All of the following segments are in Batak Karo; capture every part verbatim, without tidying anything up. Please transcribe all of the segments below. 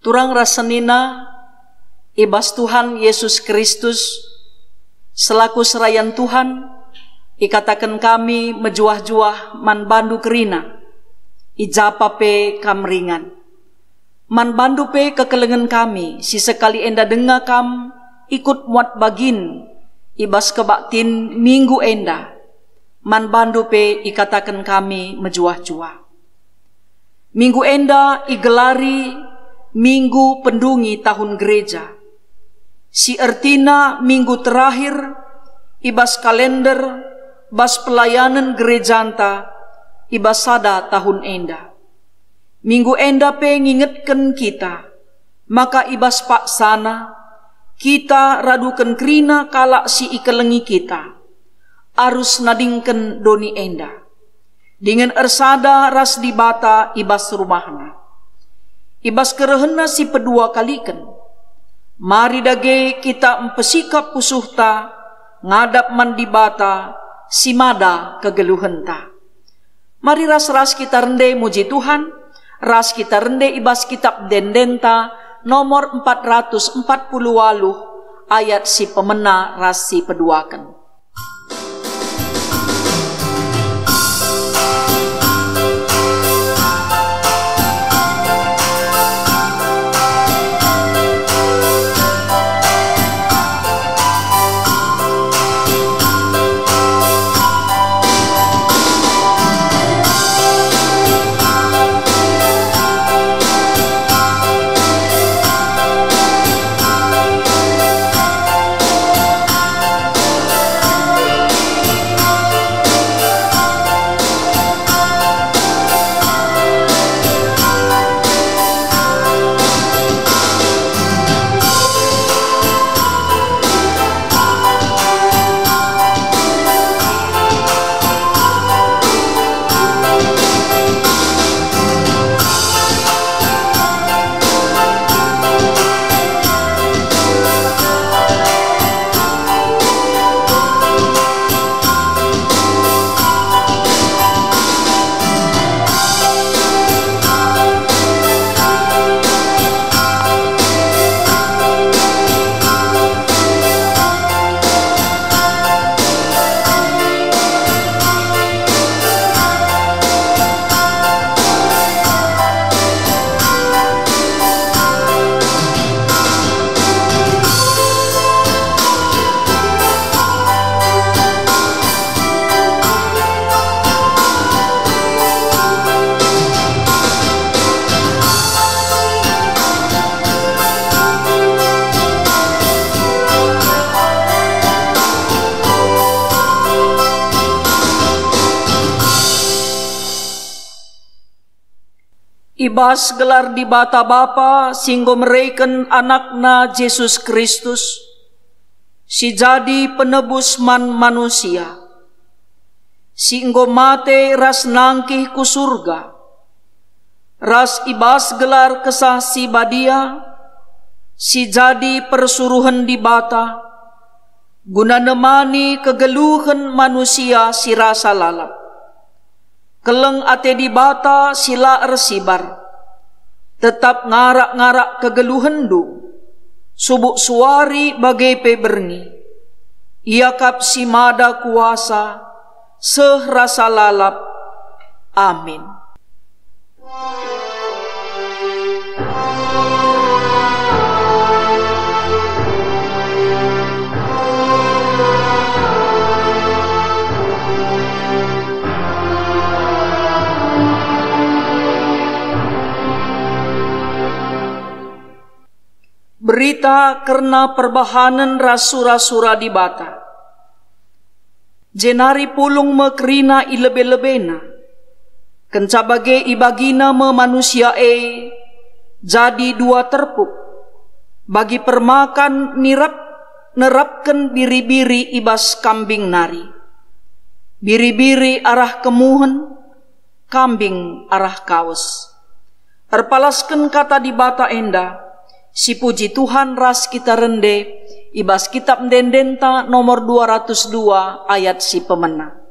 Turang ras senina, i bas Tuhan Yesus Kristus, selaku serayan Tuhan, ikataken kami mejuah-juah man bandu kerina, i ja pa pe kam ringan. Man bandu pe kekelengen kami, si sekali enda denga kam ikut muat bagin i bas kebaktin minggu enda. Man bandu pe ikataken kami mejuah-juah. Minggu enda igelari Minggu Pendungi Tahun Gereja, si ertina minggu terakhir i bas kalender bas pelayanen gerejanta i bas sada tahun enda. Minggu enda pe ngingetken kita maka i bas paksana kita raduken kerina kalak si ikelengi kita, arus nadingken doni enda, dingen ersada ras Dibata i bas rumahNa. I bas kerehenNa si pedua kaliken, mari dage kita mpesikap pusuhta ngadap man Dibata si mada kegeluhenta. Mari ras-ras kita rende muji Tuhan, ras kita rende i bas Kitap Ende-endenta nomor empat ratus empat puluh waluh, ayat si pemena ras si peduaken. I bas gelar Dibata Bapa si enggo mereken AnakNa Jesus Kristus, si jadi penebus man manusia, si enggo mate ras nangkih ku Surga, ras i bas gelar Kesah Si Badia, si jadi persuruhen Dibata, guna nemani kegeluhen manusia si rasa lalap. Keleng ate Dibata si la ersibar, tetap ngarak-ngarak kegeluhenndu, subuk suari bage pe berngi. Ia kap si mada kuasa, seh rasa lalap. Amin. Berita kerna perbahanen ras sura-sura Dibata. Jenari pulung me kerina i lebe-lebena. Kenca bage ibagina me manusia e jadi dua terpuk, bagi permakan nirap, nerapken biri-biri i bas kambing nari. Biri-biri arah kemuhen, kambing arah kawes. Erpalasken kata Dibata enda, sipuji Tuhan ras kita rende, i bas Kitap Ende-endenta nomor dua ratus dua ayat si pemena.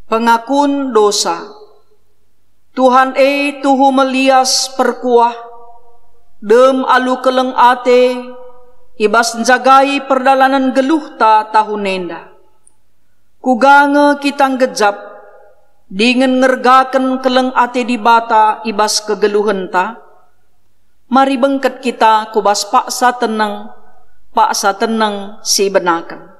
Pengakun dosa. Tuhan e, tuhu melias perkuah, dem alu keleng ate, i bas njagai perdalanen geluhta tahun enda. Kuga nge kita nggejap dingen ngergaken keleng ate Dibata i bas kegeluhenta? Mari bengket kita ku bas paksa teneng, paksa teneng si benaken.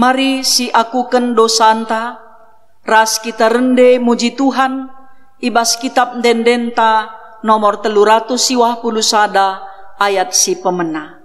Mari siakuken dosanta, ras kita rende muji Tuhan i bas Kitap Ende-endenta nomor telu ratus siwah puluh sada, ayat si pemena.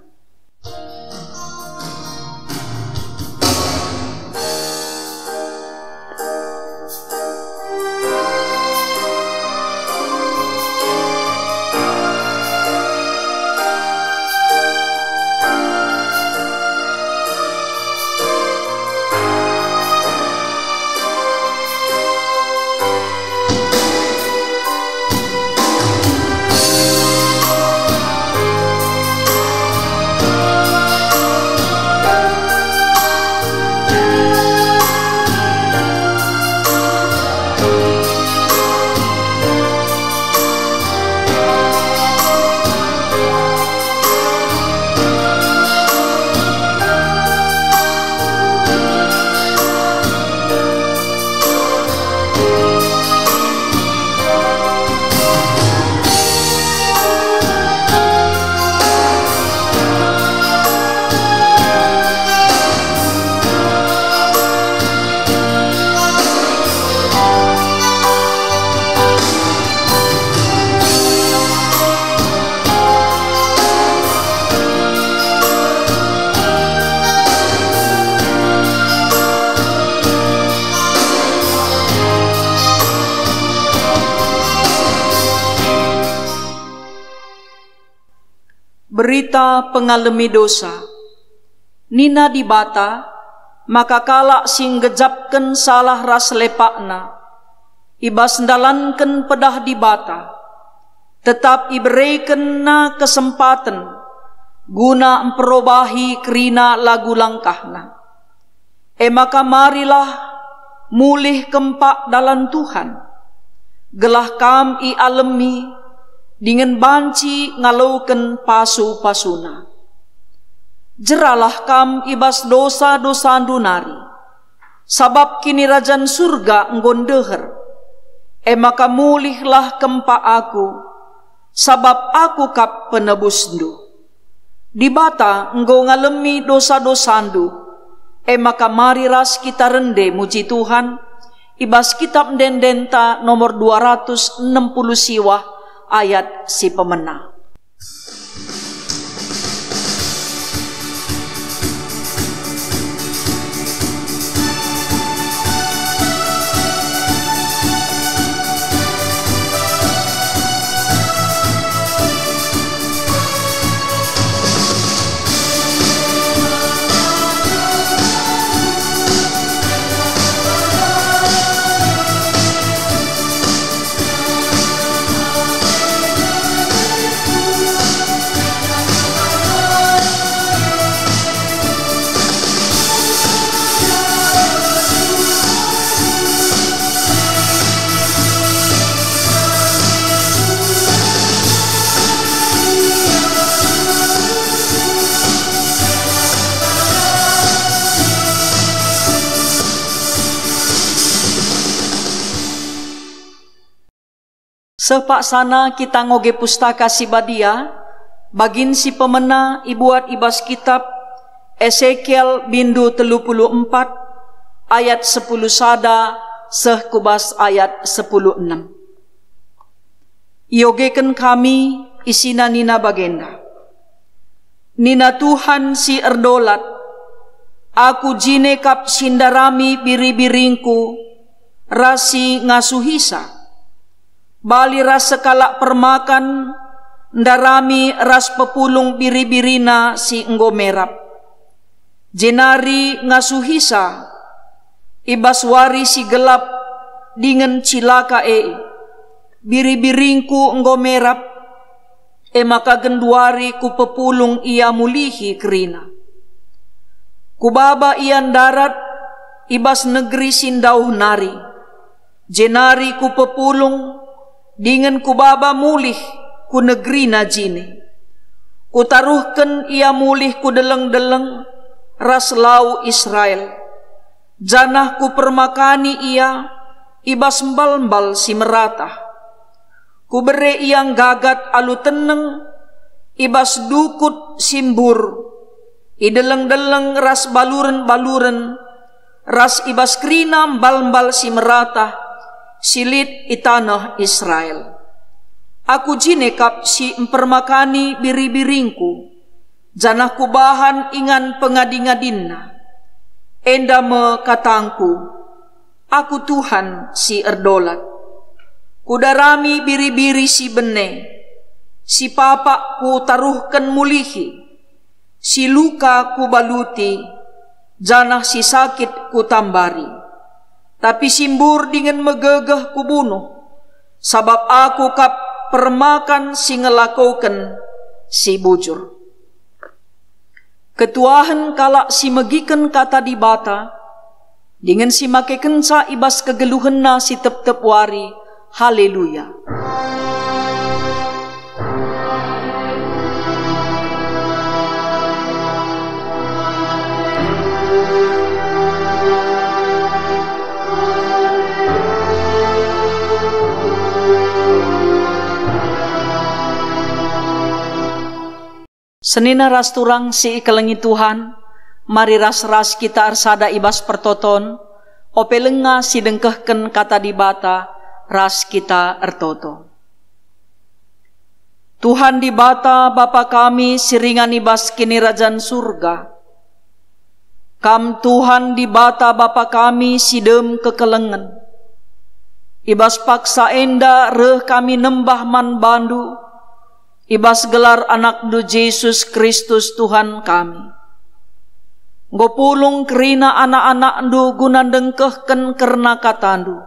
Berita pengalemi dosa. Nina Dibata, maka kalak si nggejapken salah ras lepakna, i bas ndalanken pedah Dibata, tetap iberekenNa kesempaten guna mperobahi kerina lagu langkahna. E maka marilah mulih kempak dalan Tuhan, gelah kam ialemi dingen banci ngaloken pasu-pasuNa. Jeralah kam i bas dosa-dosandu nari, sabap Kinirajan Surga enggo ndeher. E maka mulihlah kempak Aku, sabap Aku kap penebusndu. Dibata enggo ngalemi dosa-dosandu, e maka mari ras kita rende muji Tuhan i bas Kitap Ende-endenta nomor dua ratus enem puluh siwah ayat si pemena. Seh paksana kita ngoge Pustaka Si Badia, bagin si pemena ibuat i bas kitap Esekiel bindu telu puluh empat ayat sepuluh sada seh ku bas ayat sepuluh enem. Iogeken kami, isina nina bagenda, nina Tuhan si erdolat, Aku jine kap si ndarami biri-biringKu ras si ngasuhisa. Bali ras sekalak permakan ndarami ras pepulung biri-birina si enggo merap, jenari ngasuhisa i bas wari si gelap dingen cilaka e. Biri-biringKu enggo merap, e maka genduari Kupepulung ia mulihi kerina. Kubaba ia ndarat i bas negeri si ndauh nari, jenari Kupepulung dingen Kubaba mulih ku negerina jine. Kutaruhken ia mulih ku deleng-deleng ras lau Israel, janah Kupermakani ia i bas mbal-mbal si meratah. Kubere ia nggagat alu teneng i bas dukut si mbur, i deleng-deleng ras baluren-baluren, ras i bas kerina mbal-mbal si meratah si lit i taneh Israel. Aku jine kap si mpermakani biri-biringKu, janah Kubahan ingan pengadi-ngadinna. Enda me katangKu, Aku Tuhan si erdolat. Kudarami biri-biri si bene, si papak Kutaruhken mulihi, si luka Kubaluti, janah si sakit Kutambari. Tapi si mbur dingen megegeh Kubunuh, sabap Aku kap permakan si ngelakoken si bujur. Ketuahen kalak si megiken Kata Dibata, dingen si makekenca i bas kegeluhenna si tep-tep wari. Haleluya! Senina ras turang si ikelengi Tuhan, mari ras-ras kita ersada i bas pertoton, ope lenga si dengkehken Kata Dibata, ras kita ertoto. Tuhan Dibata, Bapa kami si ringan i bas Kinirajan Surga, Kam Tuhan Dibata Bapa kami si dem kekelengen. I bas paksa enda reh kami nembah man Bandu, i bas gelar AnakNdu Jesus Kristus Tuhan kami. Enggo pulung kerina anak-anakNdu guna ndengkehken kerna KataNdu,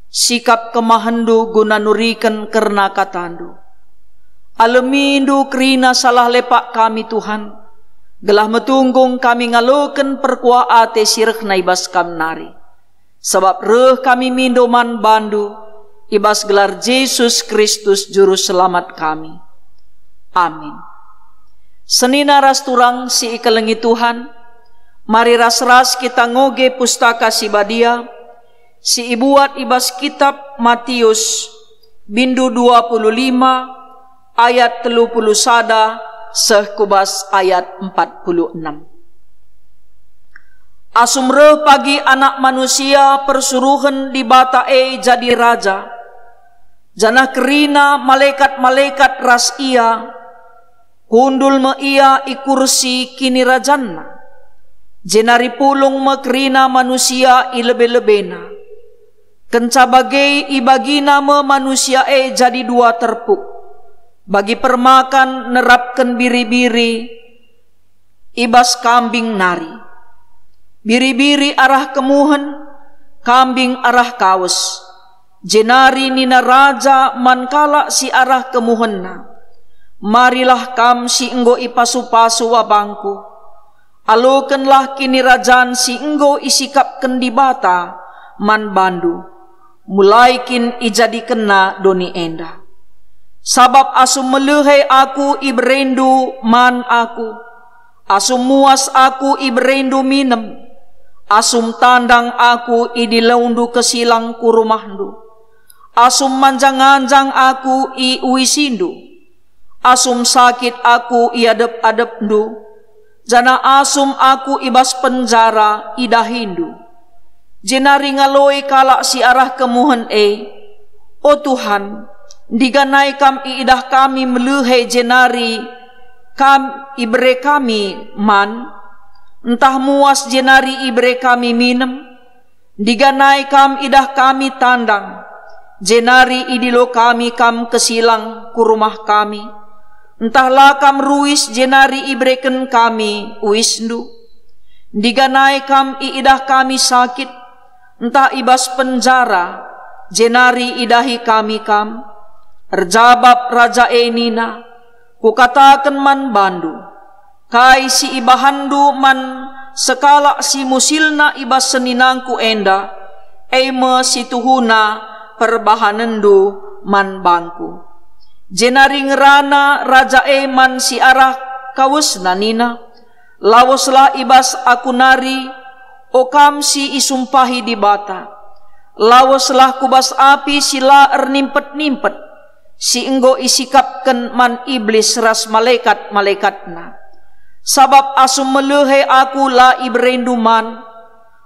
sikap kemahenNdu guna nuriken kerna KataNdu. AlemiNdu kerina salah lepak kami, Tuhan, gelah metunggung kami ngaloken perkuah ate si rehna i bas Kam nari. Sabap reh kami mindo man Bandu, i bas gelar Jesus Kristus Juru Selamat kami. Amin. Senina ras turang si ikelengi Tuhan, mari ras-ras kita ngoge Pustaka Si Badia, si ibuat i bas kitap Matius, bindu dua puluh lima, ayat telu puluh sada seh ku bas ayat empat puluh enem. Asum reh pagi Anak Manusia persuruhen Dibata e jadi Raja, janah kerina malekat-malekat ras Ia, kundul me Ia i kursi kinirajanNa, jenari pulung me kerina manusia i lebe-lebeNa. Kenca bage ibagina me manusia e jadi dua terpuk, bagi permakan nerapken biri-biri i bas kambing nari. Biri-biri arah kemuhen, kambing arah kawes. Jenari nina Raja man kalak si arah kemuhenna, "Marilah kam si enggo ipasu-pasu wabangKu. Alokenlah kinirajan si enggo isikapken Dibata man bandu, mulai kin ijadikenNa doni enda. Sabap asum melihe Aku ibereNdu man Aku, asum muas Aku ibereNdu minem, asum tandang Aku idiloNdu kesilang ku rumahndu. Asum manjang-anjang aku i uisindu, asum sakit aku i adep-adepndu, janah asum aku i bas penjara idahindu. Jenari ngaloi kalak si arah kemuhen e, "O Tuhan, ndiganai Kam iidah kami melehe jenari Kam ibere kami man, ntah muas jenari ibere kami minem? Ndiganai Kam idah kami tandang, jenari idilo kami Kam kesilang ku rumah kami, ntah la Kam ruis jenari ibereken kami uisNdu? Ndiganai Kam iidah kami sakit, ntah i bas penjara, jenari idahi kami Kam?" Erjabap raja e nina, "Kukataken man bandu, kai si ibahanndu man sekalak si musilna i bas seninangku enda, e me si tuhuna perbahanenndu man bangku." Jenari ngerana raja e man si arah kawesna nina, "Laweslah i bas aku nari, o kam si isumpahi Dibata. Laweslah ku bas api si la ernimpet-nimpet, si enggo isikapken man Iblis ras malekat-malekatna. Sabap asum melehe aku la iberendu man,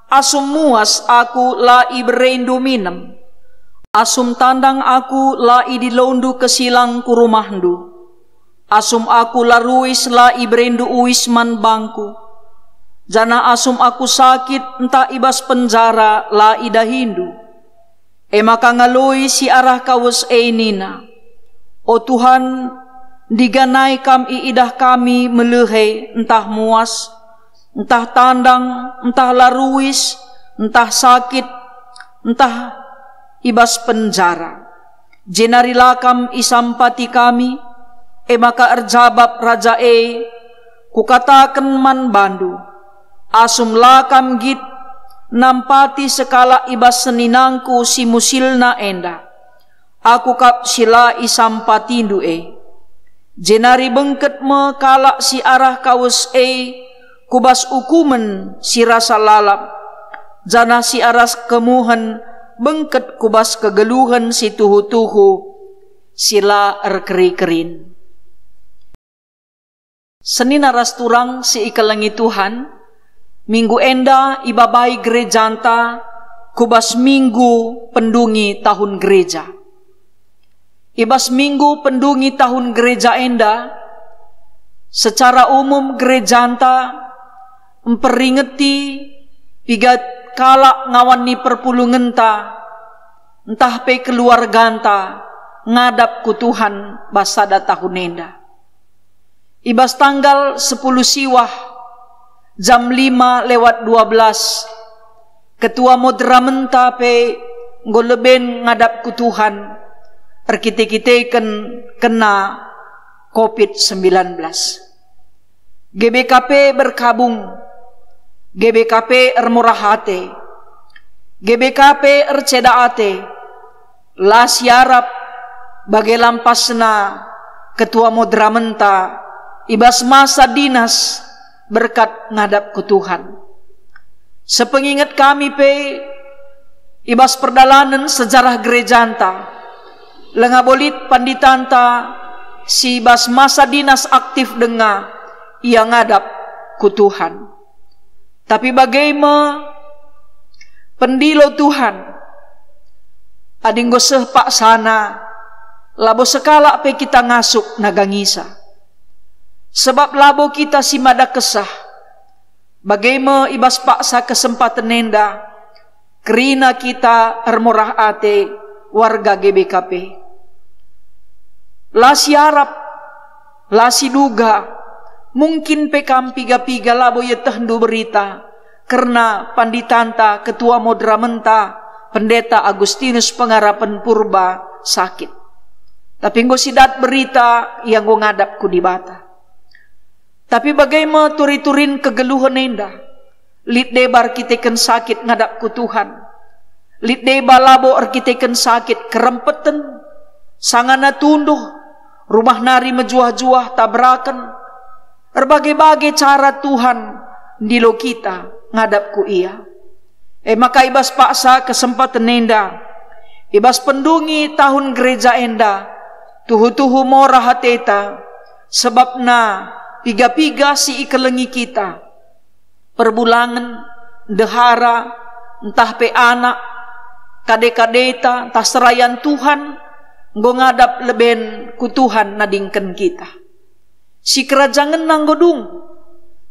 asum muas aku la iberendu minem, asum tandang aku la idilondu kesilang ku rumahndu, asum aku la ruis la iberendu uis man bangku, janah asum aku sakit ntah i bas penjara la idahindu." E maka ngaloi si arah kawes e nina, "O Tuhan, ndiganai Kam iidah kami melehe ntah muas, ntah tandang, ntah la ruis, ntah sakit, ntah i bas penjara, jenari la Kam isampati kami?" E maka erjabap raja e, "Kukataken man bandu, asum la kam nggit nampati sekalak i bas seninangku si musilna enda, aku kap si la isampatindu e." Jenari bengket me kalak si arah kawes e ku bas ukumen si rasa lalap, janah si arah kemuhen bengket ku bas kegeluhen si tuhu-tuhu si la erkeri-kerin. Senina ras turang si ikelengi Tuhan, minggu enda ibabai gerejanta ku bas Minggu Pendungi Tahun Gereja. I bas Minggu Pendungi Tahun Gereja enda, secara umum gerejanta mperingeti piga kalak ngawan ni perpulungenta, ntah pe keluarganta ngadap ku Tuhan bas sada tahun enda. I bas tanggal sepuluh Siwah, jam lima lewat dua belas, ketua moderamenta pe enggo leben ngadap ku Tuhan erkite-kiteken kena covid sembilan belas. G B K P berkabung, G B K P ermurah ate, G B K P erceda ate, la siarap bage lampasna ketua moderamenta i bas masa dinas berkat ngadap ku Tuhan. Sepenginget kami pe, i bas perdalanen sejarah gerejanta, langa bo lit panditanta si bas masa dinas aktif denga ia ngadap ku Tuhan. Tapi bage me pendilo Tuhan, adi enggo seh paksana, labo sekalak pe kita ngasup nagangisa. Sebab labo kita si mada kesah, bage me i bas paksa kesempaten enda, kerina kita ermurah ate warga G B K P. La siarap, la siduga, mungkin pe kam piga-piga labo ietehndu berita kerna panditanta, ketua moderamenta, Pendeta Agustinus Pengarapen Purba sakit. Tapi enggo sidat berita ia enggo ngadap ku Dibata. Tapi bage me turi-turin kegeluhen enda? Lit deba erkiteken sakit ngadap ku Tuhan. Lit deba labo erkiteken sakit kerempeten, sangana tunduh, rumah nari mejuah-juah taberaken. Erbage-bage cara Tuhan ndilo kita ngadap ku Ia. E maka i bas paksa kesempaten enda, I bas pendungi tahun gereja enda, tuhu-tuhu mora ateta, sebabna piga-piga si ikelengi kita, perbulangen, ndehara, ntah pe anak, kade-kadeta, ntah serayan Tuhan, enggo ngadap leben ku Tuhan nadingken kita. Sikerajangenna enggo dung.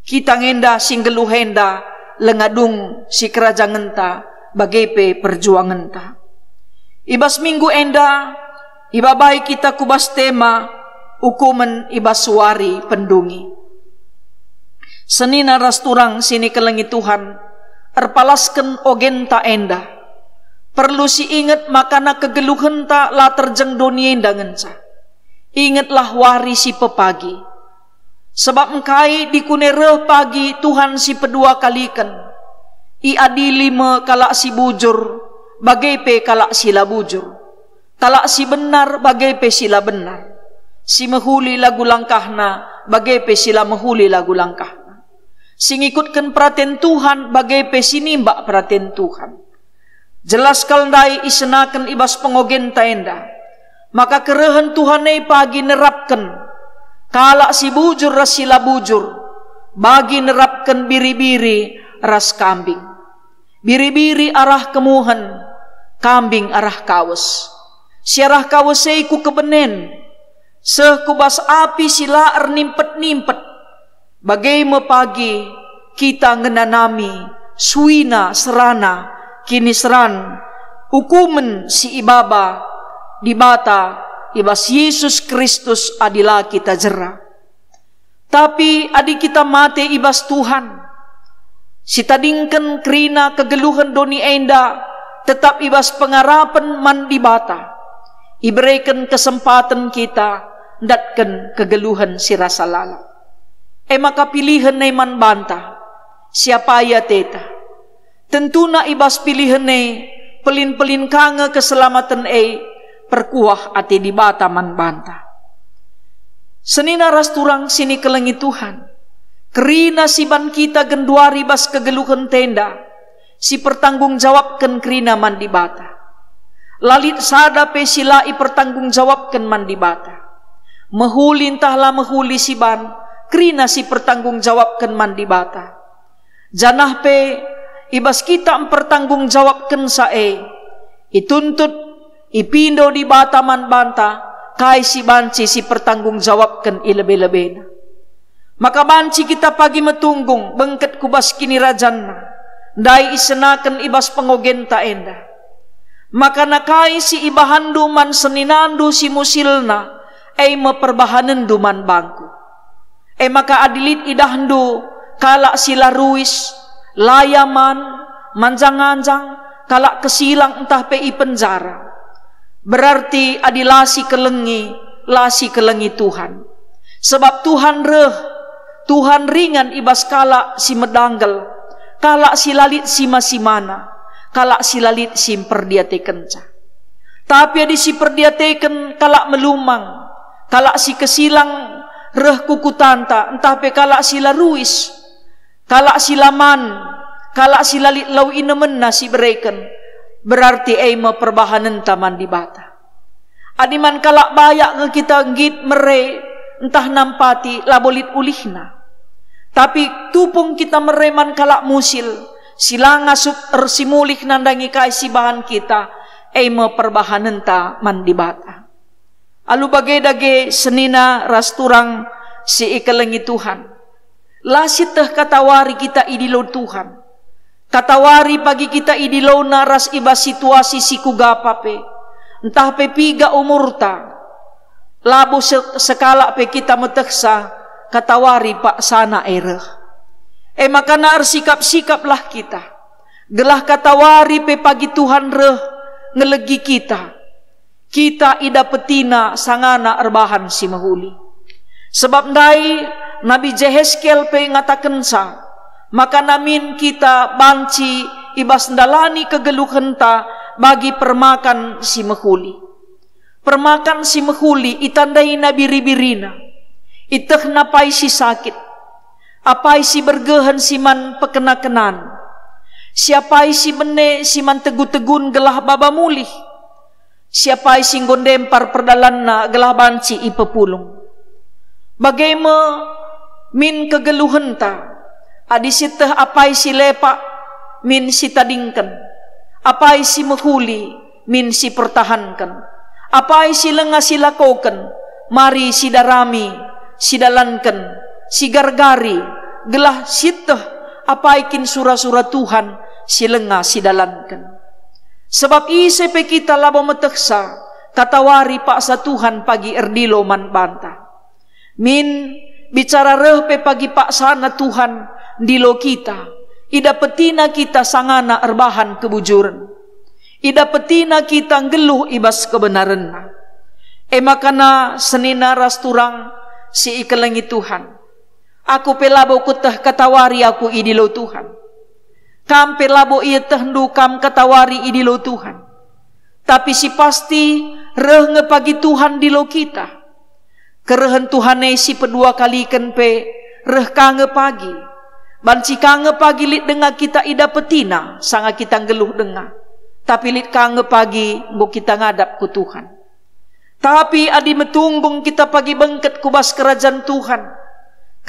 Kita nge enda si nggeluh enda langa dung sikerajangenta bage pe perjuangenta. I bas minggu enda, ibabai kita ku bas tema ukumen i bas wari pendungi. Senina ras turang si nikelengi Tuhan, erpalasken ogenta enda. Perlu si inget makana kegeluhenta la terjeng doni enda ngenca. Ingetlah wari si pepagi. Sebab engkai dikune reh pagi Tuhan si pedua kaliken. Iadili me kalak si bujur, bage pe kalak si la bujur. Kalak si benar, bage pe si la benar. Si mehuli lagu langkahna, bage pe si la mehuli lagu langkahna. Si ngikutken peraten Tuhan, bage pe si nimbak peraten Tuhan. Jelas kal ndai isenaken i bas pengogenta enda, maka kerehen Tuhan e pagi nerapken kalak si bujur ras si la bujur, bagi nerapken biri-biri ras kambing. Biri-biri arah kemuhen, kambing arah kawes. Si arah kawes e ku kebenen, seh ku bas api si la ernimpet-nimpet. Bage me pagi kita ngenanami suina serana kiniseran ukumen si ibaba Dibata i bas Yesus Kristus adi la kita jera. Tapi adi kita mate i bas Tuhan, sitadingken kerina kegeluhen doni enda tetap i bas pengarapen man Dibata, ibereken kesempaten kita ndatken kegeluhen si rasa lalap. E maka pilihen e man banta, si apai ateta. Tentuna i bas pilihen e, pelin-pelin ka nge keselamaten e perkuah ate Dibata man banta. Senina ras turang si nikelengi Tuhan, kerina si ban kita genduari bas kegeluhenta enda, si pertanggung jawabken kerina man Dibata. La lit sada pe si la ipertanggung jawabken man Dibata. Mehuli ntah la mehuli si ban, kerina si pertanggung jawabken man Dibata. Janah pe i bas kita mpertanggung jawabkenca e, ituntut, ipindo Dibata man banta kai si banci si pertanggung jawabken i lebe-lebena. Maka banci kita pagi metunggung bengket ku bas kinirajanna, ndai isenaken i bas pengogenta enda. Maka na kai si ibahanndu man seninandu si musilna, e me perbahanenndu man bangku. E maka adi lit idahndu kalak si la ruis, la yaman, manjang-anjang, kalak kesilang ntah pe i penjara, berarti adi la sikelengi, la sikelengi Tuhan. Sebab Tuhan reh, Tuhan ringan i bas kalak si medanggel, kalak si la lit sima-simana, kalak si la lit si mperdiatekenca. Tapi adi si perdiateken kalak melumang, kalak si kesilang reh ku kutanta, ntah pe kalak si la ruis, kalak si la man, kalak si la lit lau inemenna si bereken, berarti e me perbahanenta man Dibata. Adi man kalak bayak nge kita nggit mere ntah nampati, labo lit ulihna. Tapi tupung kita mere man kalak musil, si la ngasup ersimulih nandangi kai si bahan kita, e me perbahanenta man Dibata. Alu bage dage senina ras turang si ikelengi Tuhan. La sieteh katawari kita idilo Tuhan. Katawari pagi kita idilona ras i bas situasi si kuga pe, ntah pe piga umurta. Labo se-, sekalak pe kita metehsa katawari paksana e reh. E maka na ersikap-sikaplah kita, gelah katawari pe pagi Tuhan reh ngelegi kita. Kita idapetina sangana erbahan si mehuli. Sebab ndai Nabi Jeheskel pe ngatakenca, maka namin kita banci i bas ndalani kegeluhenta bagi permakan si mehuli. Permakan si mehuli itandaina biri-birina, itehna apai si sakit, apai si bergehen si man pekena-kenan, si apai si bene si man tegu-tegun gelah baba mulih, Si apai si enggo ndempar perdalanna gelah banci ipepulung. Bage me min kegeluhenta, adi sieteh apai si lepak min sitadingken, apai si mehuli min sipertahanken, apai si langa silakoken mari sidarami, sidalanken, sigargari, gelah sieteh apai kin sura-sura Tuhan si langa sidalanken. Sebab ise pe kita labo metehsa, katawari paksa Tuhan pagi erdilo man banta. Min, bicara reh pe pagi paksana Tuhan ndilo kita, idapetina kita sangana erbahan kebujuren. Idapetina kita nggeluh i bas kebenarenna. E maka senina ras turang si ikelengi Tuhan. Aku pe labo kueteh katawari aku idilo Tuhan. Kam pe labo ietehndu kam katawari idilo Tuhan. Tapi si pasti, reh nge pagi Tuhan ndilo kita. Kerehen Tuhan e si pedua kaliken pe reh ka nge pagi. Banci ka nge pagi lit denga kita idapetina sanga kita nggeluh denga. Tapi lit ka nge pagi enggo kita ngadap ku Tuhan. Tapi adi metunggung kita pagi bengket ku bas kerajan Tuhan,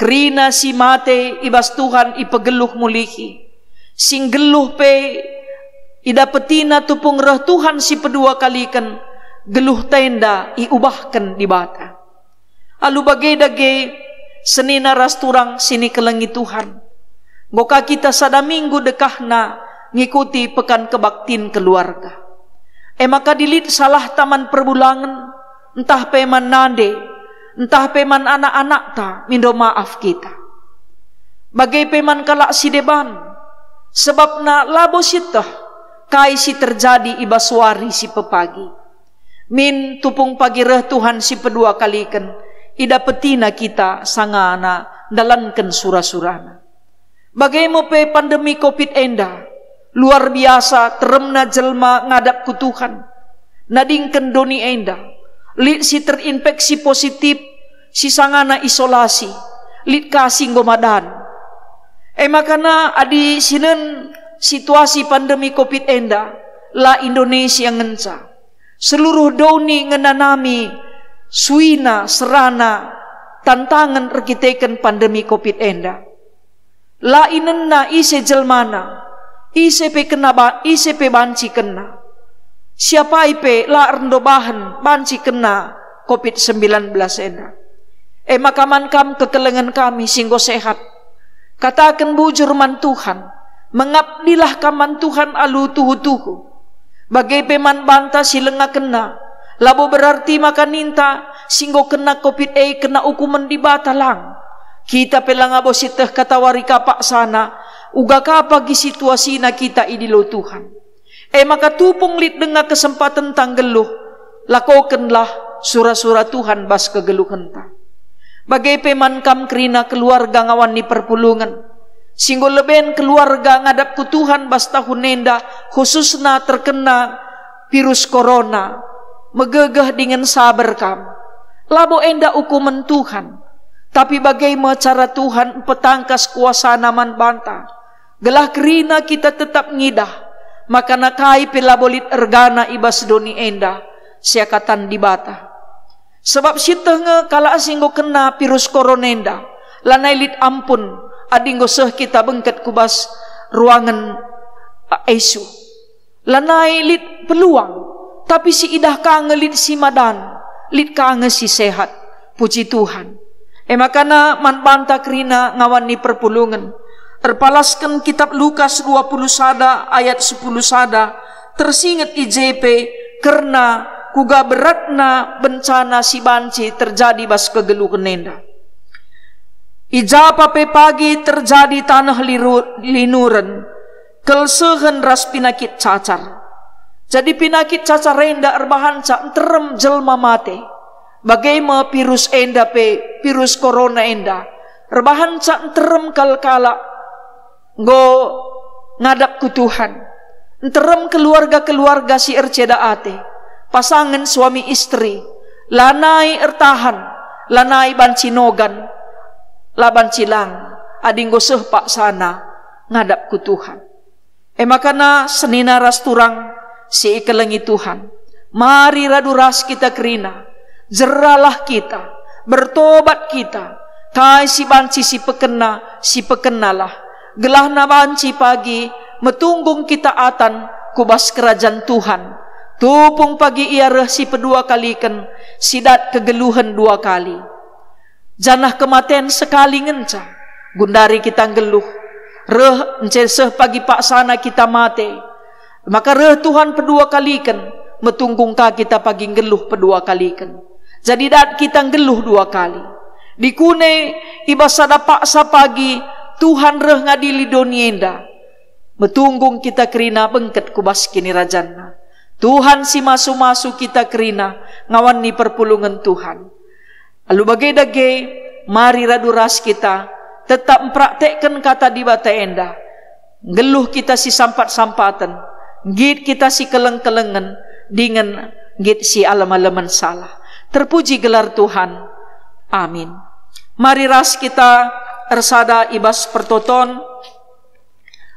kerina si mate i bas Tuhan ipegeluh mulihi. Si nggeluh pe idapetina tupung reh Tuhan si pedua kaliken, geluhta enda iubahken Dibata. Alu bage dage, senina ras turang si nikelengi Tuhan. Enggo ka kita sada minggu dekahna ngikuti Pekan Kebaktin Keluarga. E maka adi lit salahta man perbulangen, ntah pe man nande, ntah pe man anak-anakta, mindo maaf kita. Bage pe man kalak si deban, sebabna labo sieteh kai si terjadi i bas wari si pepagi. Min tupung pagi reh Tuhan si pedua kaliken, idapetina kita sangana ndalanken sura-surana. Bage me pe pandemi covid enda, luar biasa teremna jelma ngadap ku Tuhan. Nadingken doni enda, lit si terinfeksi positif, si sangana isolasi, lit ka si enggo madan. E maka adi sinen situasi pandemi covid enda, la Indonesia ngenca. Seluruh doni ngenanami suina serana tantangen erkiteken pandemi covid enda. La inenna ise jelmana, ise pe kena ba-, ise pe banci kena. Si apai pe la erndobahen banci kena covid sembilan belas enda. E maka man kam kekelengen kami si enggo sehat, kataken bujur man Tuhan, mengabdilah kam man Tuhan alu tuhu-tuhu. Bage pe man banta si langa kena, labo berarti maka ninta si enggo kena covid e kena ukumen Dibata, lang. Kita pe la ngabo sieteh katawari ka paksana, uga ka pagi situasina kita idilo Tuhan. E maka tupung lit denga kesempatenta nggeluh, lakokenlah sura-sura Tuhan bas kegeluhenta. Bage pe man kam kerina keluarga ngawan ni perpulungen. Si enggo leben keluarga ngadap ku Tuhan bas tahun enda, khususna terkena virus corona, megegeh dingen saber kam. Labo enda ukumen Tuhan, tapi bage me cara Tuhan mpetangkas kuasaNa man banta, gelah kerina kita tetap ngidah, maka kai pe labo lit ergana i bas doni enda, seakatan Dibata. Sebab sieteh nge kalak si enggo kena virus corona enda, lanai lit ampun adi enggo seh kita bengket ku bas ruangen I C U. Lanai lit peluang, tapi si idah ka nge lit si madan, lit ka nge si sehat. Puji Tuhan. E maka man banta kerina ngawan ni perpulungen. Erpalasken Kitap Lukas dua puluh sada ayat sepuluh sada, tersinget i je pe kerna kuga beratna bencana si banci terjadi bas kegeluhen enda. I ja pe pagi terjadi taneh liru-, linuren, kelsehen ras pinakit cacar. Jadi pinakit cacar enda erbahanca nterem jelma mate. Bage me virus enda pe, virus corona enda, erbahanca nterem kal kalak enggo ngadap ku Tuhan. Nterem keluarga-keluarga si erceda ate, pasangen suami istri, lanai ertahan, lanai banci nogan, la banci lang, adi enggo seh paksana ngadap ku Tuhan. E maka senina ras turang si ikelengi Tuhan. Mari radu ras kita kerina, jeralah kita, bertobat kita, kai si banci sipekenna, sipekennalah, gelahna banci pagi metunggung kita atan ku bas kerajan Tuhan. Tupung pagi ia reh si pedua kaliken, si dat kegeluhen dua kali. Janah kematen sekali ngenca, gundari kita nggeluh. Reh ence seh pagi paksana kita mate. Maka reh Tuhan pedua kaliken, metunggung ka kita pagi nggeluh pedua kaliken. Jadi dat kita nggeluh dua kali. Dikune i bas sada paksa pagi Tuhan reh ngadili doni enda. Metunggung kita kerina bengket ku bas kinirajanNa. Tuhan si masu-masu kita kerina ngawan ni perpulungen Tuhan. Alu bage dage, mari radu ras kita tetap mpraktekken kata Dibata enda. Nggeluh kita si sampat-sampaten, nggit kita si keleng-kelengen, dingen nggit si alem-alemen salah. Terpuji gelar Tuhan. Amin. Mari ras kita ersada i bas pertoton.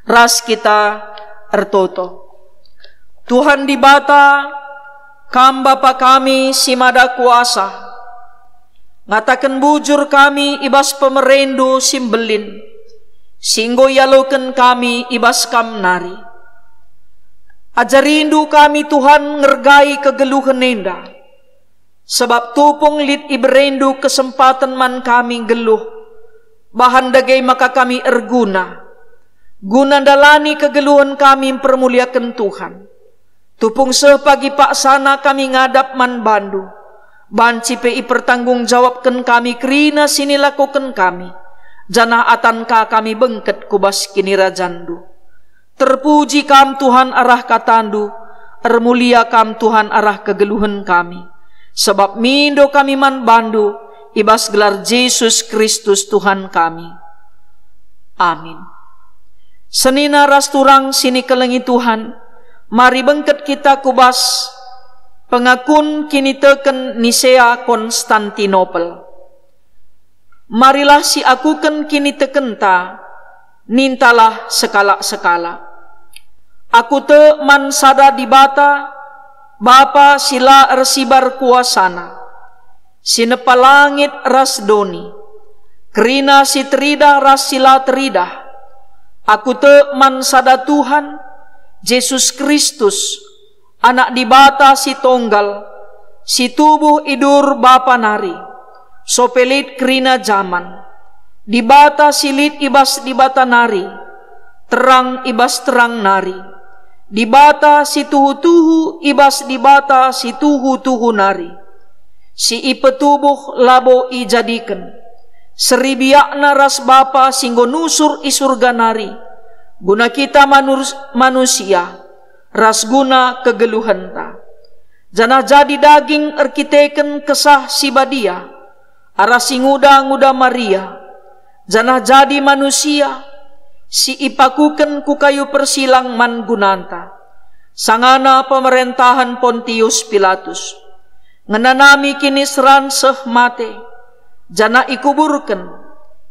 Ras kita ertoto. Tuhan Dibata, Kam Bapa kami si mada kuasa, ngataken bujur kami i bas pemereNdu si mbelin, si enggo ialoken kami i bas Kam nari. Ajarindu kami, Tuhan, ngergai kegeluhen enda. Sabap tupung lit ibereNdu kesempaten man kami nggeluh, bahan dage maka kami erguna, guna ndalani kegeluhen kami mpermuliaken Tuhan. Tupung seh pagi paksana kami ngadap man baNdu, banci pe ipertanggung jawabken kami kerina si nilakoken kami, janah atan ka kami bengket ku bas kinirajanNdu. Terpuji Kam, Tuhan, arah kataNdu, ermulia Kam, Tuhan, arah kegeluhen kami, sabap mindo kami man baNdu i bas gelar Jesus Kristus, Tuhan kami. Amin. Senina ras turang si nikelengi Tuhan, mari bengket kita ku bas pengakun kiniteken Nisea Konstantinopel. Marilah siakuken kinitekenta, nintalah sekalak-sekalak. Aku tek man sada Dibata, Bapa si la ersibar kuasaNa, si nepa langit ras doni, kerina si teridah ras si la teridah. Aku tek man sada Tuhan, Jesus Kristus, Anak Dibata si Tonggal, si tubuh i dur Bapa nari, sope lit kerina jaman. Dibata si lit i bas Dibata nari, terang i bas terang nari, Dibata si tuhu-tuhu i bas Dibata si tuhu-tuhu nari, si ipetubuh labo ijadiken, seribiakna ras Bapa si enggo nusur i Surga nari, guna kita manus-, manusia, ras guna kegeluhenta. Janah jadi daging erkiteken Kesah Si Badia, arah si nguda-nguda Maria, janah jadi manusia, si ipakuken ku kayu persilang man gunanta, sangana pemerentahen Pontius Pilatus. Ngenanami kiniseran seh mate, janah ikuburken,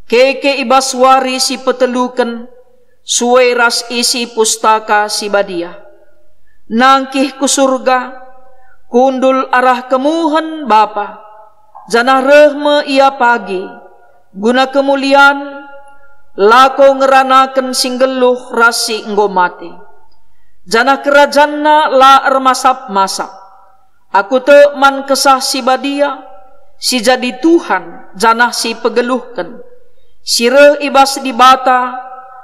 keke i bas wari si peteluken, sue ras isi Pustaka Si Badia. Nangkih ku Surga, kundul arah kemuhen Bapa, janah reh me Ia pagi, guna kemulian, lako ngeranaken si nggeluh ras si enggo mate. Janah kerajanNa la ermasap-masap. Aku tek man Kesah Si Badia, si jadi Tuhan janah si pegeluhken, si reh i bas Dibata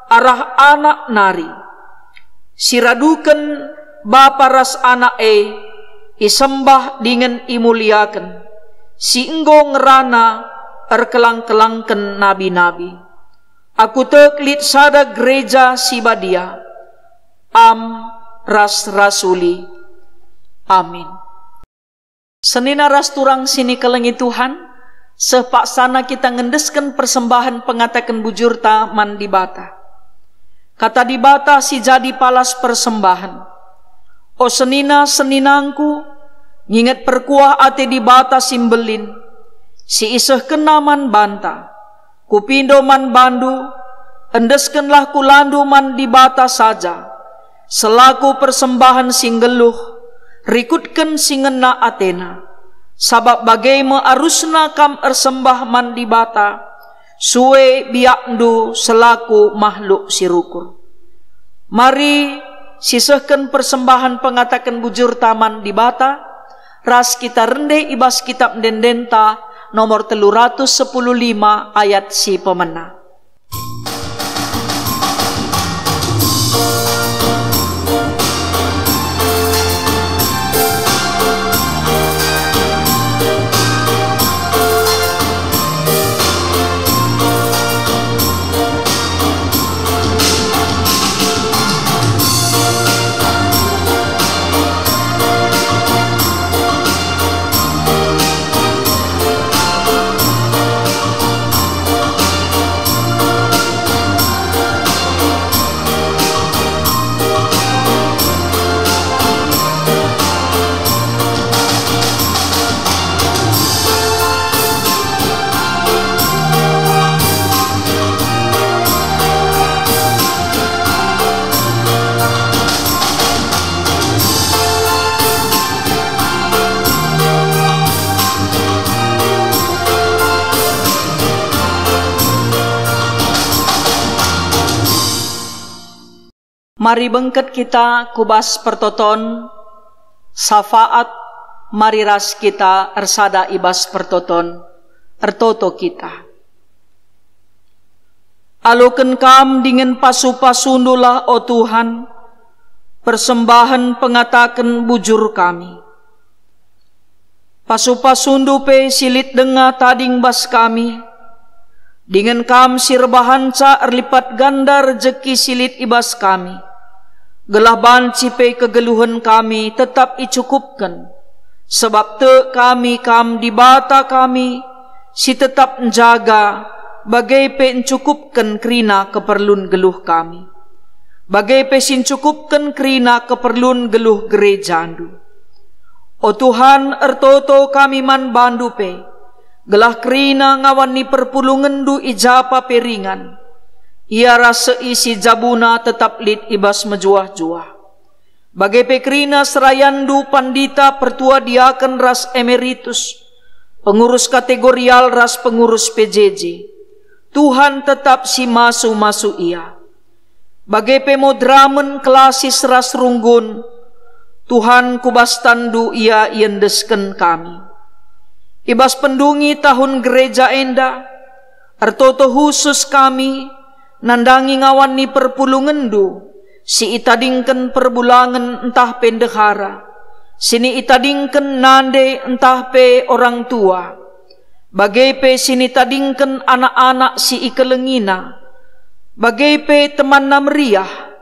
arah Anak nari, si raduken Bapa ras Anak e isembah dingen imuliaken, si enggo ngerana erkelang-kelangken nabi-nabi. Aku tek lit sada gereja si badia, am ras rasuli. Amin. Senina ras turang si nikelengi Tuhan, seh paksana kita ngendesken persembahen pengataken bujurta man Dibata. Kata Dibata si jadi palas persembahen. O senina-seninangku, nginget perkuah ate Dibata si mbelin, si isehkenNa man banta. Kupindo man bandu, endeskenlah kulandu man Dibata saja, selaku persembahen si nggeluh, rikutken si ngena atena, sabap bage me arusna kam ersembah man Dibata, sue biakndu selaku mahluk si rukur. Mari sisehken persembahen pengataken bujurta man Dibata, ras kita rende i bas Kitap Ende-endenta nomor telu ratus sepuluh lima ayat si pemena. Mari bengket kita ku bas pertoton, safaat, mari ras kita ersada i bas pertoton, ertoto kita. Aloken kam dingen pasu-pasundulah, o Tuhan, persembahen pengataken bujur kami. Pasu-pasundu pe si lit denga tading bas kami, dingen kam si erbahanca erlipat ganda rejeki si lit i bas kami, gelah banci pe kegeluhen kami tetap icukupken, sabap tek kami kam Dibata kami, si tetap njaga, bage pe ncukupken kerina keperlun geluh kami, bage pe si ncukupken kerina keperlun geluh gerejandu. O Tuhan, ertoto kami man bandu pe, gelah kerina ngawan ni perpulungenndu i japa pe ringan. Ia ras seisi jabuna tetap lit i bas mejuah-juah. Bage pe kerina serayanndu pandita, pertua diaken ras emeritus, pengurus kategorial ras pengurus P J J. Tuhan tetap si masu-masu ia. Bage pe moderamen, kelasis ras runggun, Tuhan, ku bas tanNdu ia iendesken kami. I bas pendungi tahun gereja enda, ertoto khusus kami nandangi ngawan ni perpulungenndu si itadingken perbulangen ntah pe ndehara, si itadingken nande ntah pe orang tua, bage pe si itadingken anak-anak si ikelengina, bage pe temanna meriah.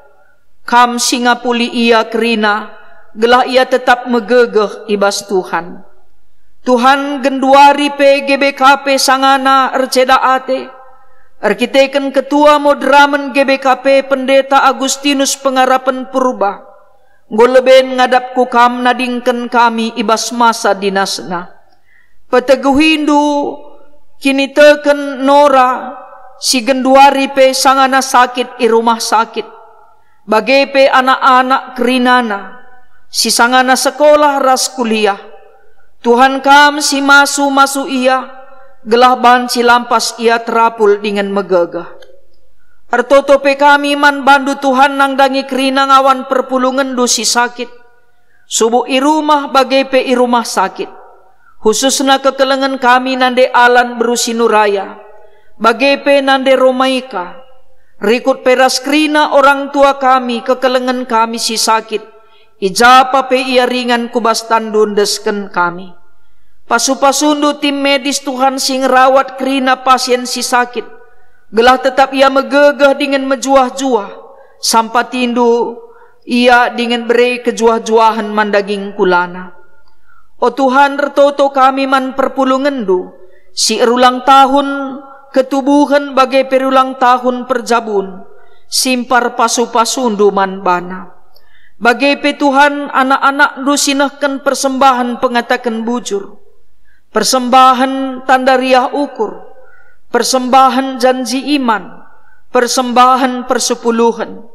Kam si ngapuli ia kerina, gelah ia tetap megegeh i bas Tuhan. Tuhan, genduari pe G B K P sangana erceda ate, erkiteken ketua moderamen G B K P Pendeta Agustinus Pengarapen Purba, enggo leben ngadap ku Kam nadingken kami i bas masa dinasna. Peteguhindu kiniteken Nora, si genduari pe sangana sakit i rumah sakit, bage pe anak-anak kerinana, si sangana sekolah ras kuliah. Tuhan, Kam si masu-masu ia, gelah banci lampas ia terapul dingen megegeh. Ertoto pe kami man bandu, Tuhan, nandangi kerina ngawan perpulungenndu si sakit, subuk i rumah bage pe i rumah sakit. Khususna kekelengen kami nande Alan beru Sinuraya, bage pe nande Romaika. Rikut pe ras kerina orang tua kami, kekelengen kami si sakit, i japa pe ia ringan ku bas tanNdu endesken kami. Pasu-pasundu tim medis, Tuhan, si ngerawat kerina pasien si sakit, gelah tetap ia megegeh dingen mejuah-juah. Sampatindu ia dingen bere kejuah-juahen man daging kulana. O Tuhan, ertoto kami man perpulungenndu, si erulang tahun ketubuhen bage pe erulang tahun perjabun, simpar pasu-pasundu man bana. Bage pe, Tuhan, anak-anakndu si nehken persembahen pengataken bujur, persembahen tanda riah ukur, persembahen janji iman, persembahen persepuluhen,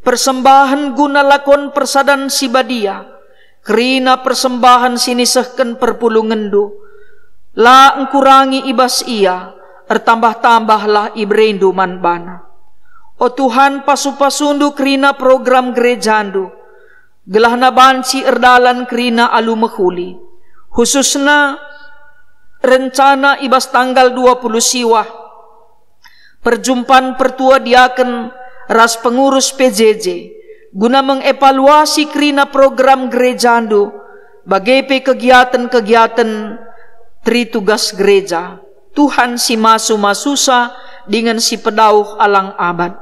persembahen guna lakon persadan si badia, Kerina persembahen si nisehken perpulungenndu, la engkurangi i bas ia, ertambah-tambahlah iberendu man bana. O Tuhan, pasu-pasundu kerina program gerejandu, gelahna banci erdalan kerina alu mehuli, khususna rencana i bas tanggal dua puluh siwah, perjumpan pertua diaken ras pengurus P J J, guna mengevaluasi kerina program gerejandu, bage pe kegiaten-kegiaten teritugas gereja. Tuhan si masu-masusa dingen si pedauh alang abad.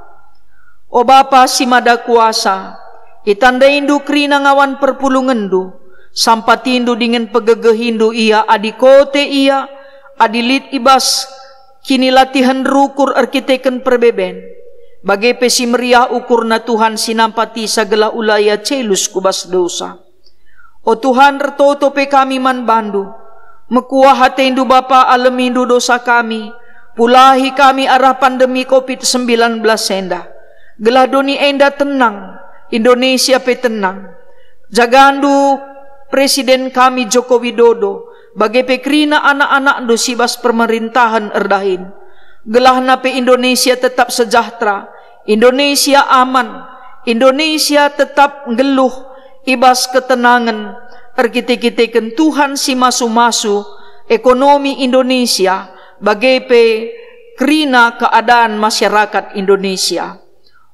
O Bapa si Mada Kuasa, itandaindu kerina ngawan perpulungenndu, sampatindu dingen pegegehindu ia adi kote ia, adi lit i bas kinilatihen rukur erkiteken perbeben, bage pe si meriah ukurna Tuhan si nampatisa gelah ula ia celus ku bas dosa. O Tuhan, ertoto pe kami man bandu. Mekuah atendu Bapa, alemindu dosa kami, pulahi kami arah pandemi covid sembilan belas enda, gelah doni enda tenang, Indonesia pe tenang. Jagandu Presiden kami Joko Widodo, bage pe kerina anak-anakndu si bas pemerintahen erdahin. Gelahna pe Indonesia tetap sejahtera, Indonesia aman, Indonesia tetap nggeluh i bas ketenangen, erkite-kiteken Tuhan si masu-masu ekonomi Indonesia, bage pe kerina keadaan masyarakat Indonesia.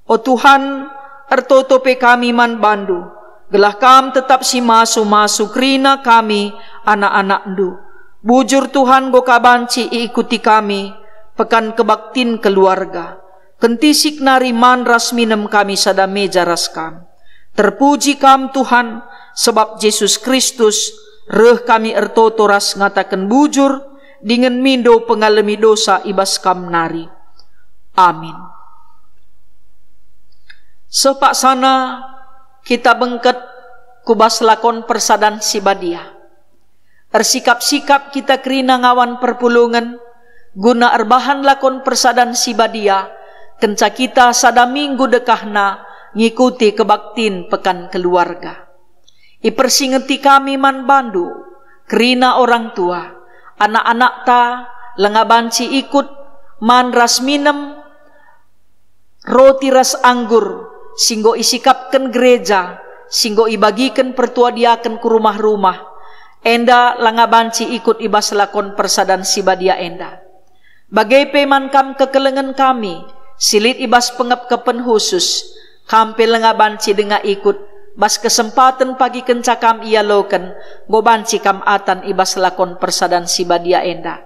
O Tuhan, ertoto pe kami man bandu, gelah Kam tetap si masu-masu kerina kami, anak-anakndu. Bujur Tuhan, enggo ka banci iikuti kami Pekan Kebaktin Keluarga. Kentisik nari man ras minem kami sada meja ras Kam. Terpuji Kam, Tuhan, sebab Jesus Kristus reh kami ertoto ras ngataken bujur, dingen mindo pengalemi dosa i bas Kam nari. Amin. Seh paksana kita bengket ku bas lakon persadan si badia. Ersikap-sikap kita kerina ngawan perpulungen guna erbahan lakon persadan si badia, kenca kita sada minggu dekahna ngikuti kebaktin Pekan Keluarga. Ipersingeti kami man bandu, kerina orang tua, anak-anakta langa banci ikut man ras minem roti ras anggur si enggo isikapken gereja, si enggo ibagiken pertua diaken ku rumah-rumah, enda langa banci ikut i bas lakon persadan si badia enda. Bage pe man kam kekelengen kami, si lit i bas pengepkepen khusus, kam pe langa banci denga ikut, bas kesempaten pagi kenca kam ialoken, enggo banci kam atan i bas lakon persadan si badia enda.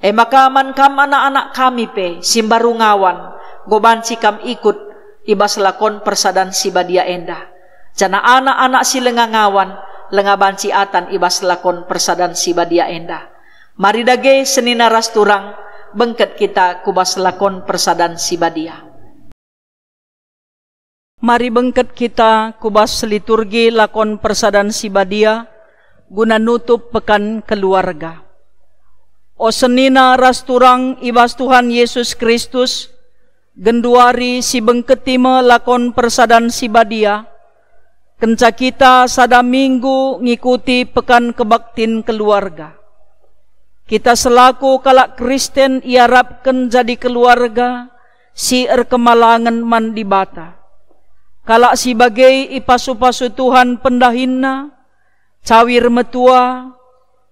E maka man kam anak-anak kami pe, si mbaru ngawan, enggo banci kam ikut i bas lakon persadan si badia enda. Janah anak-anak si langa ngawan, langa banci atan i bas lakon persadan si badia enda. Mari dage senina ras turang, bengket kita ku bas lakon persadan si badia. Mari bengket kita ku bas liturgi lakon persadan si badia, guna nutup Pekan Keluarga. O senina ras turang i bas Tuhan Yesus Kristus, genduari sibengketi me lakon persadan si badia, kenca kita sada minggu ngikuti Pekan Kebaktin Keluarga. Kita selaku kalak Kristen iarapken jadi keluarga si erkemalangen man Dibata. Kalak si bage ipasu-pasu Tuhan pendahinna, cawir metua,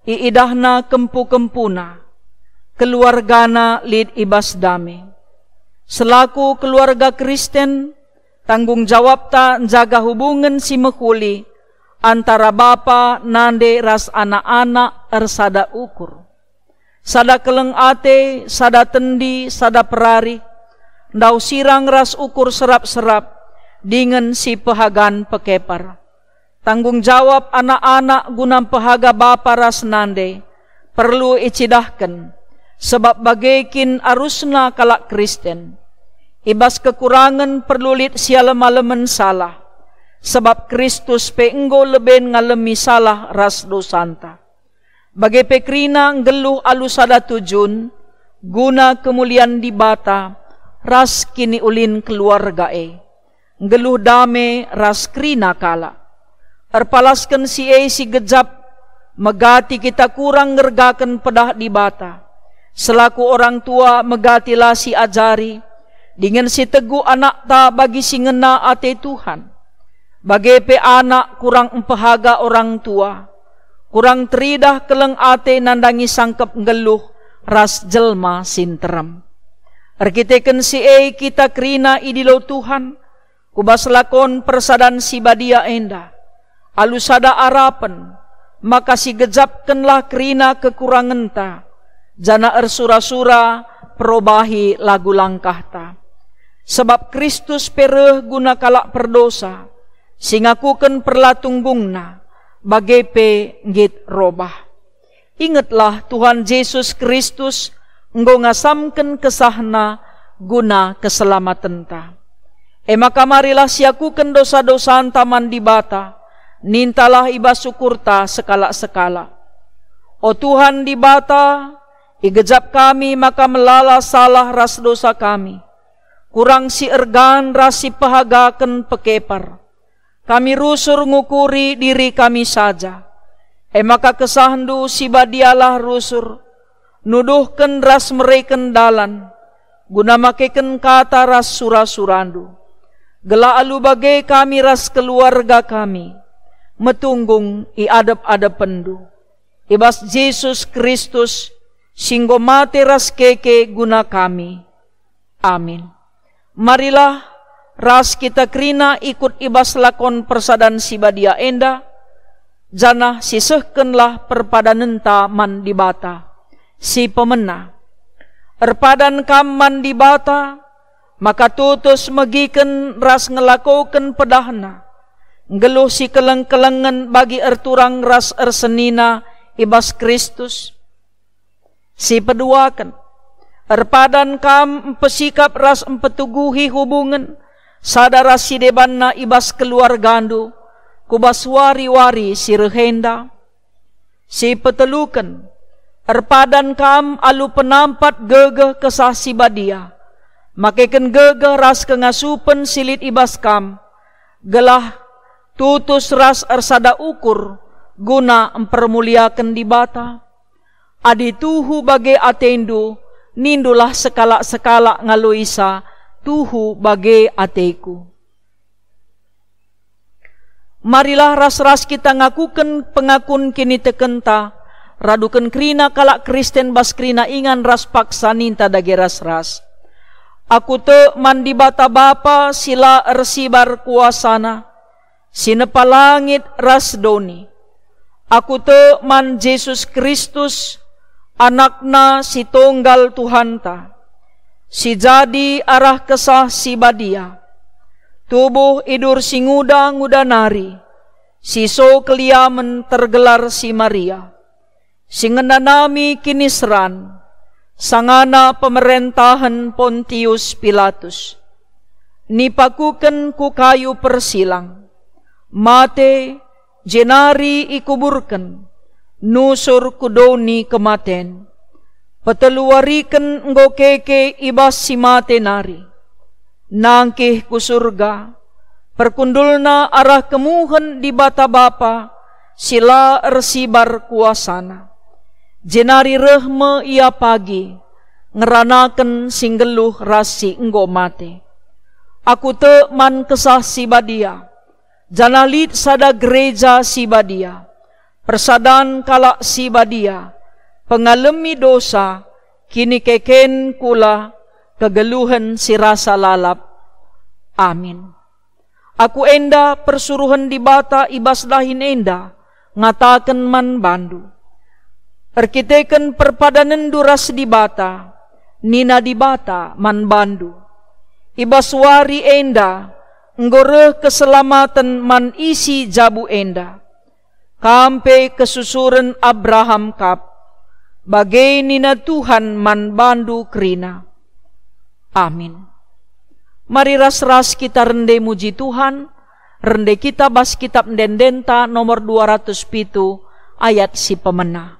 iidahna kempu-kempuna, keluargana lit i bas dame. Selaku keluarga Kristen, tanggung jawabta njaga hubungen si mehuli antara bapa, nande, ras anak-anak ersada ukur. Sada keleng ate, sada tendi, sada perari, ndauh sirang ras ukur serap-serap, dingen si pehagan pekepar. Tanggung jawab anak-anak guna mpehaga bapa ras nande perlu icidahken, sebab bage kin arusna kalak Kristen. I bas kekurangen perlu lit sialem-alemen salah, sebab Kristus pe enggo leben ngalemi salah ras dosanta. Bage pe kerina nggeluh alu sada tujun, guna kemulian Dibata ras kiniulin keluarga e. Nggeluh dame ras kerina kalak. Erpalasken si e si gejap, megati kita kurang ngergaken pedah Dibata. Selaku orang tua, megati la siajari dingen sitegu anakta bagi si ngena ate Tuhan. Bage pe anak kurang mpehaga orang tua, kurang teridah keleng ate nandangi sangkep nggeluh ras jelma si nterem. Erkiteken si e kita kerina idilo Tuhan, ku bas lakon persadan si badia enda, alu sada arapen, maka sigejapkenlah kerina kekurangenta, janah ersura-sura perobahi lagu langkahta. Sabap Kristus pe reh guna kalak perdosa, si ngakuken perlatunggungna, bage pe nggit robah. Ingetlah, Tuhan Jesus Kristus enggo ngasamken kesahNa guna keselamatenta. E maka marilah siakuken dosa-dosanta man Dibata, nintalah i bas ukurta sekalak-sekalak. O Tuhan Dibata, igejap kami maka melala salah ras dosa kami. Kurang si ergan ras si pehagaken pekepar. Kami rusur ngukuri diri kami saja. E maka kesahNdu si badialah rusur, nuduhken ras mereken dalan, guna makeken kata ras sura-suraNdu. Gelah alu bage kami ras keluarga kami metunggung i adep-adepenNdu. I bas Jesus Kristus, si enggo mate ras keke guna kami. Amin. Marilah ras kita kerina ikut i bas lakon persadan si badia enda, janah sisehkenlah perpadanenta man Dibata, si pemena. Erpadan kam man Dibata, maka tutus megiken ras ngelakoken pedahNa, nggeluh si keleng-kelengen bagi erturang ras ersenina i bas Kristus. Si peduaken, erpadan kam mpesikap ras mpetuguhi hubungen sada ras si debanna i bas keluargandu, ku bas wari-wari si reh enda. Si peteluken, erpadan kam alu penampat gegeh Kesah Si Badia, makeken gegeh ras kengasupen si lit i bas kam, gelah tutus ras ersada ukur guna mpermuliaken Dibata. Adi tuhu bage atendu, nindulah sekalak-sekalak ngaloisa tuhu bage ateku. Marilah ras-ras kita ngakuken pengakun kinitekenta, raduken kerina kalak Kristen bas kerina ingan ras paksa ninta dage ras-ras. Aku tek man Dibata Bapa si la ersibar kuasaNa, si nepa langit ras doni. Aku tek man Jesus Kristus, AnakNa si tunggal Tuhanta, si jadi arah Kesah Si Badia, tubuh idur si nguda-nguda nari, si so keliamen tergelar si Maria, si ngenanami kiniseran, sangana pemerentahen Pontius Pilatus, nipakuken ku kayu persilang, mate, jenari ikuburken, nusur ku doni kematen. Peteluwariken enggo keke i bas si mate nari. Nangkih ku Surga, perkundulna arah kemuhen Dibata Bapa si la ersibar kuasaNa. Jenari reh me Ia pagi, ngeranaken si nggeluh ras si enggo mate. Aku tek man Kesah Si Badia, janah lit sada gereja si badia, persadan kalak si badia, pengalemi dosa, kinikeken kula, kegeluhen si rasa lalap. Amin. Aku enda persuruhen Dibata i bas dahin enda ngataken man bandu. Erkiteken perpadanenndu ras Dibata, nina Dibata man bandu, "I bas wari enda enggo reh keselamaten man isi jabu enda. Kam pe kesusuren Abraham kap." Bage nina Tuhan man bandu kerina. Amin. Mari ras-ras kita rende muji Tuhan, rende kita bas Kitab Ende-endenta nomor dua ratus pitu, ayat si pemena.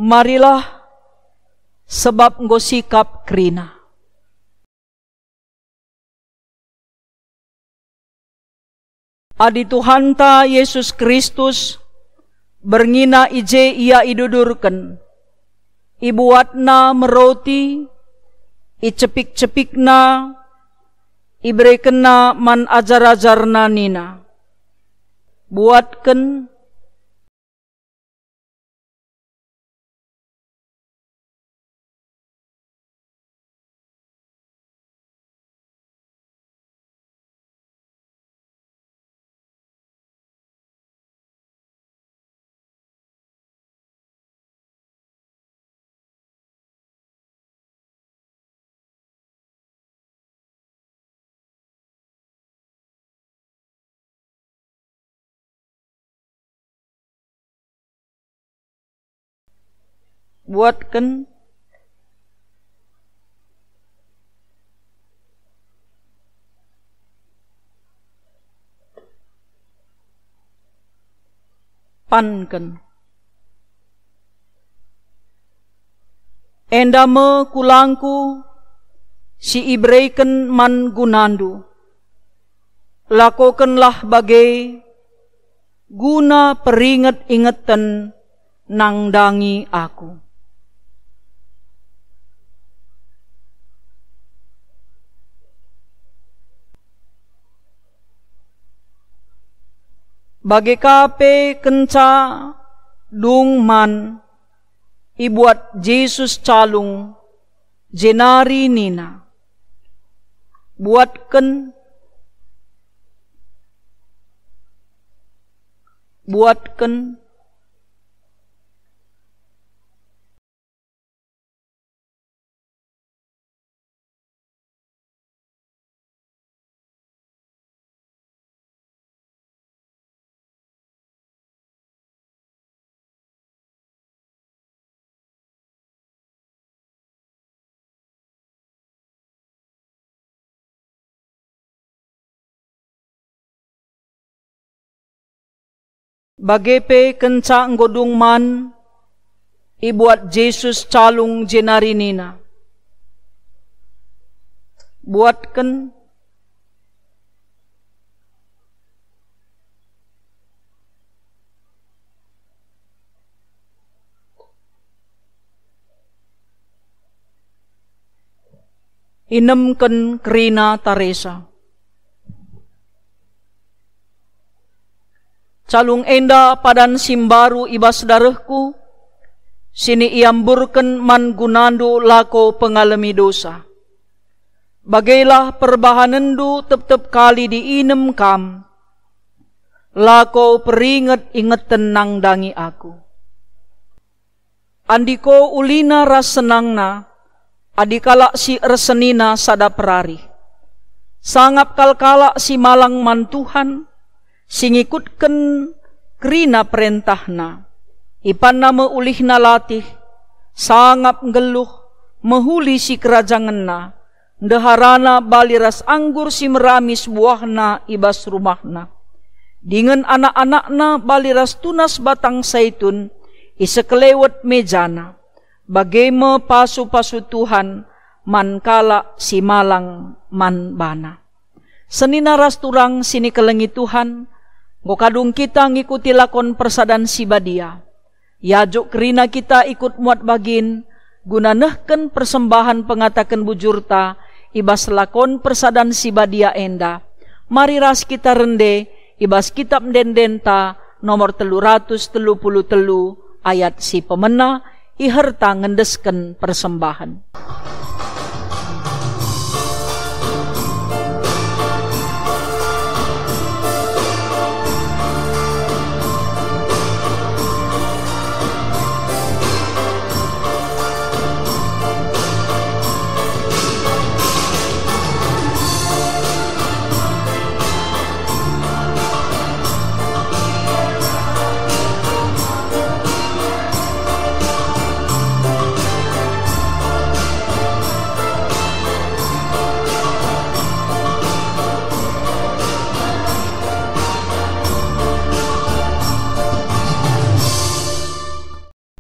Marilah, sebab enggo sikap kerina. Adi Tuhanta Jesus Kristus, berngina i je Ia idudurken, ibuatNa me roti, icepik-cepikNa, iberekenNa man ajar-ajarNa nina, "Buatken, buatken, panken. Enda me kulangKu si ibereken man gunandu. Lakokenlah bage guna peringet-ingeten nandangi Aku." Bage ka pe kenca dung man, ibuat Jesus calung, jenari nina, "Buatken, buatken." Bage pe kenca enggo dung man, ibuat Jesus calung jenari nina, "Buatken, inemken kerina taresa. Calung enda padan si mbaru i bas darehKu, si iamburken man gunandu lako pengalemi dosa. Bagelah perbahanenndu tep-tep kali diinem kam, lako peringet-ingeten nandangi Aku." Andiko ulina ras senangna, adi kalak si ersenina sada perari. Sangap kal kalak si malang man Tuhan, si ngikutken kerina perentahNa. Ipanna me ulihna latih, sangap nggeluh, mehuli sikerajangenna, ndeharana bali ras anggur si meramis buahna i bas rumahna. Dingen anak-anakna bali ras tunas batang saitun i sekelewet mejana. Bage me pasu-pasu Tuhan man kalak si malang man baNa. Senina ras turang si ikelengi Tuhan, enggo kadung kita ngikuti lakon persadan si badia. Iajuk kerina kita ikut muat bagin, guna nehken persembahen pengataken bujurta i bas lakon persadan si badia enda. Mari ras kita rende i bas Kitap Ende-endenta nomor telu ratus telu puluh telu, ayat si pemena, iherta ngendesken persembahen.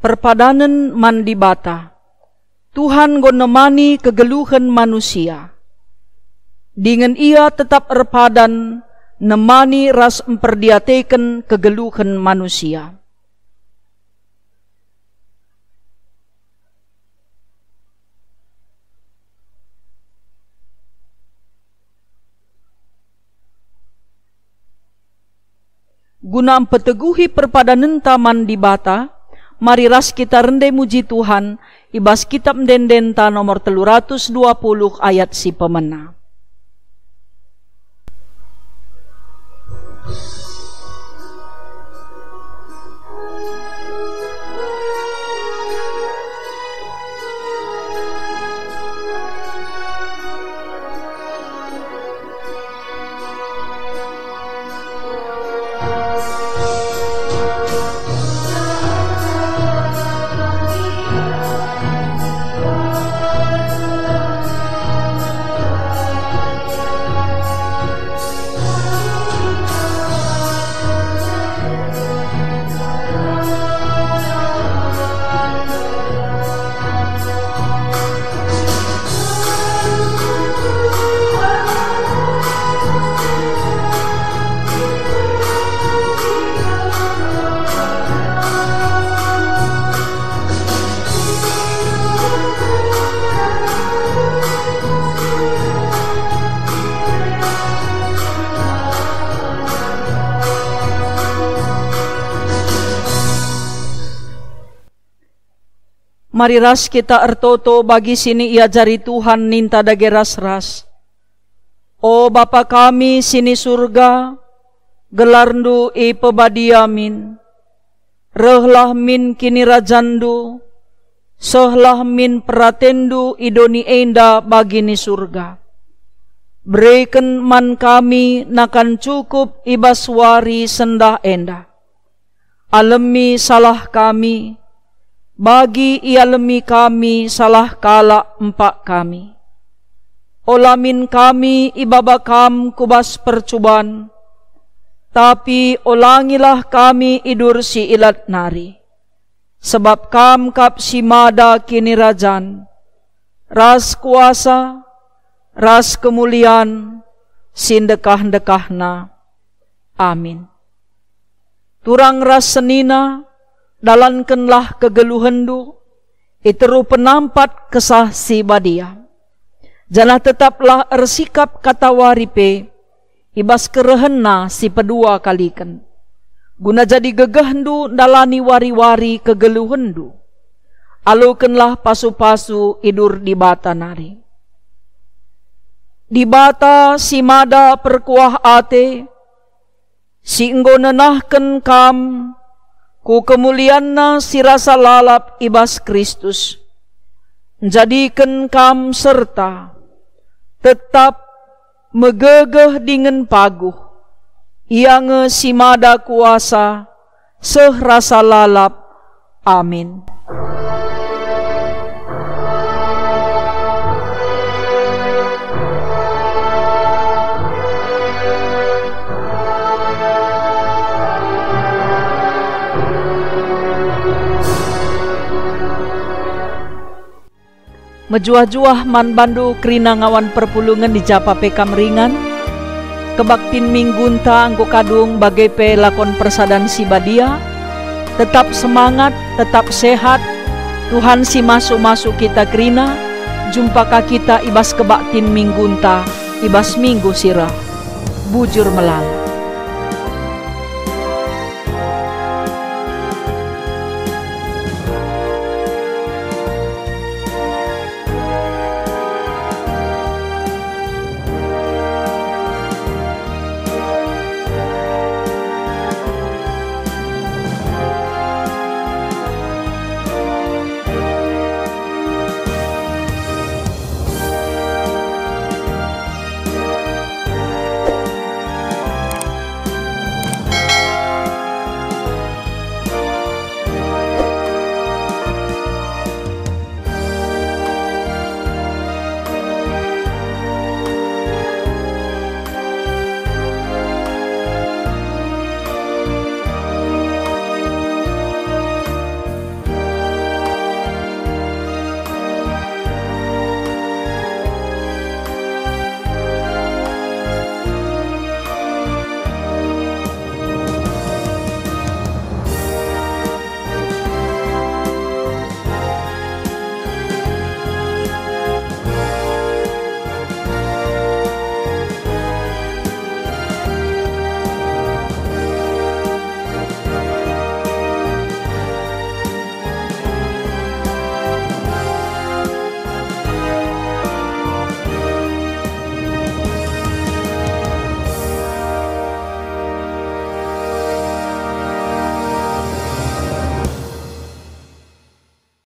Perpadanen man Dibata. Tuhan enggo nemani kegeluhen manusia. Dingen Ia tetap erpadan nemani ras mperdiateken kegeluhen manusia. Guna mpeteguhi perpadanenta man Dibata, mari ras kita rende muji Tuhan i bas Kitab Ende-endenta nomor telu ratus dua puluh ayat si pemena. Mari ras kita ertoto bagi si niajari Tuhan ninta dage ras-ras. O Bapa kami si ni Surga, gelarNdu ipebadia min. Rehlah min kinirajanNdu, sehlah min peratenNdu i doni enda bagi ni Surga. Bereken man kami nakan cukup i bas wari sendah enda. Alemi salah kami, bagi ialemi kami salah kalak empak kami. Ola min kami ibaba Kam ku bas percuban, tapi olangilah kami idur si ilat nari. Sebab Kam kap si mada kinirajan, ras kuasa, ras kemulian, si ndekah-ndekahna. Amin. Turang ras senina, dalankenlah kegeluhenndu, i teruh penampat Kesah Si Badia. Janah tetaplah ersikap katawari pe, i bas kerehenna si pedua kaliken, guna jadi gegehndu ndalani wari-wari kegeluhenndu. Alokenlah pasu-pasu idur Dibata nari. Dibata si mada perkuah ate, si enggo nenahken kam ku kemulianNa si rasa lalap i bas Kristus, njadiken kam serta tetap megegeh dingen paguh. Ia nge si mada kuasa seh rasa lalap. Amin. Mejuah-juah man bandu kerina ngawan perpulungen i ja pe kam ringan. Kebaktin minggunta enggo kadung bage pe lakon persadan si badia. Tetap semangat, tetap sehat. Tuhan si masu-masu kita kerina. Jumpa ka kita i bas kebaktin minggunta i bas minggu si reh. Bujur melala.